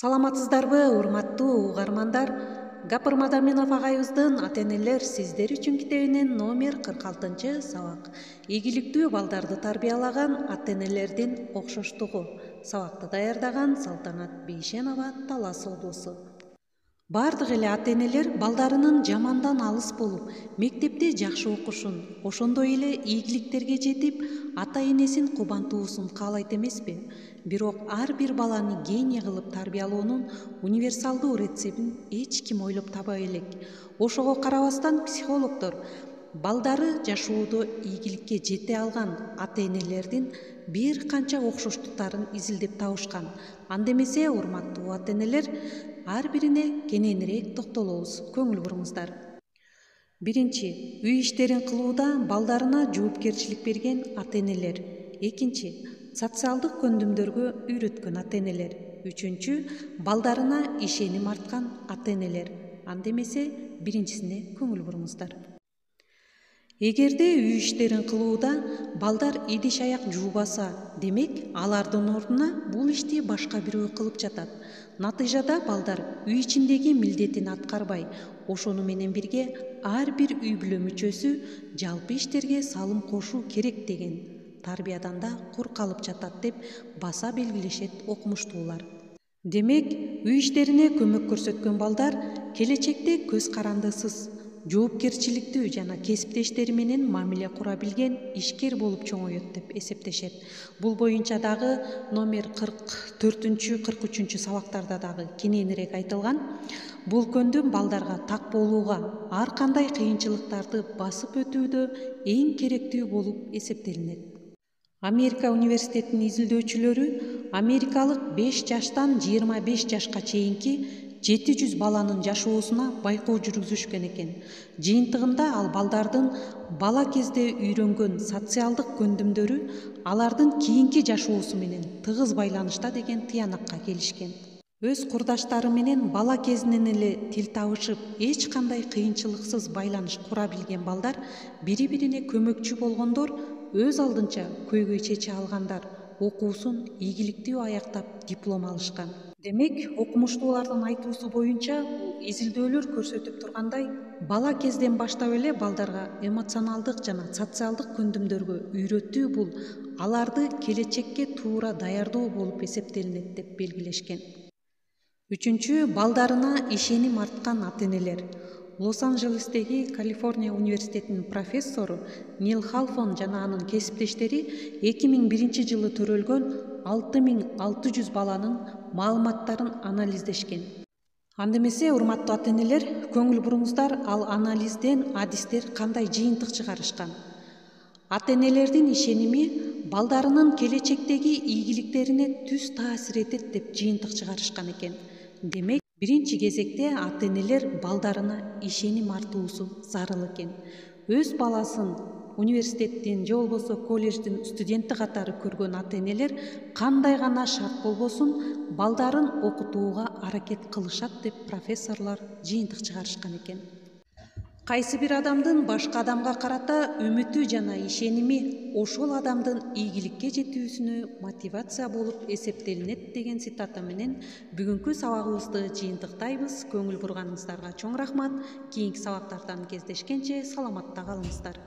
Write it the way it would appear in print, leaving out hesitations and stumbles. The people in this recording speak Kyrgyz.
Саламатсыздарбы, урматтуу угармандар? Гапыр Мадаминов агайыбыздын ата-энелер сиздер үчүн китебинин номер 46 сабак. Ийгиликтүү балдарды тарбиялаган ата-энелердин окшоштугу. Сабакты даярдаган Салтанат Бейшенова, Талас облусу. Бардык эле ата-энелер балдарынын жамандан алыс болуп, мектепте жакшы окушун, ошондой эле ийгиликтерге жетип, ата-энесин кубантуусун каалайт эмеспи? Бирок ар бир баланы гений кылып тарбиялоонун универсалдуу рецептин эч ким ойлоп таба элек. Ошого карабастан психологдор балдары жашоодо ийгиликке жете алган ата-энелердин бир канча окшоштуктарын изилдеп табышкан. Анда эмесе, урматтуу ата-энелер, ар бирине кененирээк токтолобуз. Көңүл буруңуздар. Биринчи, үй иштерин кылууда балдарына жоопкерчилик берген ата-энелер. Экинчи, социалдык көндүмдөргө үйрөткөн ата-энелер. Үчүнчү, балдарына ишеним арткан ата-энелер. Анда эмесе, биринчисине көңүл буруңуздар. Эгерде үй иштерин кылууда балдар идиш аяк жуубаса, демек алардын ордуна бул ишти башка бирөө кылып жатат. Натыйжада балдар үй ичиндеги милдетин аткарбай, ошону менен бирге ар бир үй бүлө мүчөсү жалпы иштерге салым кошуу керек деген тарбиядан да кур калып жатат деп баса белгилешет окумуштуулар. Демек, үй иштерине көмөк көрсөткөн балдар келечекте көз карандысыз, жоопкерчиликтүү жана кесиптештери менен мамиле кура билген ишкер болуп чоңоет деп эсептешет. Бул боюнча дагы номер 44-43 сабактарда дагы кененирээк айтылган. Бул көндүм балдарга так болууга, ар кандай кыйынчылыктарды басып өтүүдө эң керектүү болуп эсептелинет. Америка университетинин изилдөөчүлөрү америкалык 5 жаштан 25 жашка чейинки 700 баланын жашоосуна байкоо жүргүзүшкөн экен. Жыйынтыгында ал балдардын бала кезде үйрөнгөн социалдык көндүмдөрү алардын кийинки жашоосу менен тыгыз байланышта деген тыянакка келишкен. Өз курдаштары менен бала кезинен эле тил табышып, эч кандай кыйынчылыксыз байланыш кура билген балдар бири-бирине көмөкчү болгондор, өз алдынча көйгөй чече алгандар, окуусун ийгиликтүү аяктап диплом алышкан. Демек, окумуштуулардын айтуусу боюнча, бул изилдөөлөр көрсөтүп тургандай, бала кезден баштап эле балдарга эмоционалдык жана социалдык көндүмдөргө үйрөтүү бул аларды келечекке туура даярдоо болуп эсептелинет деп белгилешкен. Үчүнчү, балдарына ишеним арткан ата-энелер. Лос-Анджелестеги Калифорния университетинин профессору Нил Халфон жана анын кесиптештери 2001 жылы төрөлгөн 6600 баланын маалыматтарын анализдешкен. Анда эмесе, урматтуу ата-энелер, көңүл буруңуздар, ал анализден адистер кандай жыйынтык чыгарышкан? Ата-энелердин ишеними балдарынын келечектеги ийгиликтерине түз таасир этет деп жыйынтык чыгарышкан экен. Демек, биринчи кезекте ата-энелер балдарына ишеним артуусу зарыл экен. Өз баласын университеттин же болбосо колледждин студенти катары көргөн ата-энелер кандай гана шарт болбосун балдарын окутууга аракет кылышат деп профессорлор жыйынтык чыгарышкан экен. Кайсы бир адамдын башка адамга карата үмүтү жана ишеними ошол адамдын ийгиликке жетүүсүнө мотивация болуп эсептелинет деген цитата менен бүгүнкү сабагыбызды жыйынтыктайбыз. Көңүл бурганыңыздарга чоң рахмат. Кийинки сабактардан кездешкенче саламатта калыңыздар.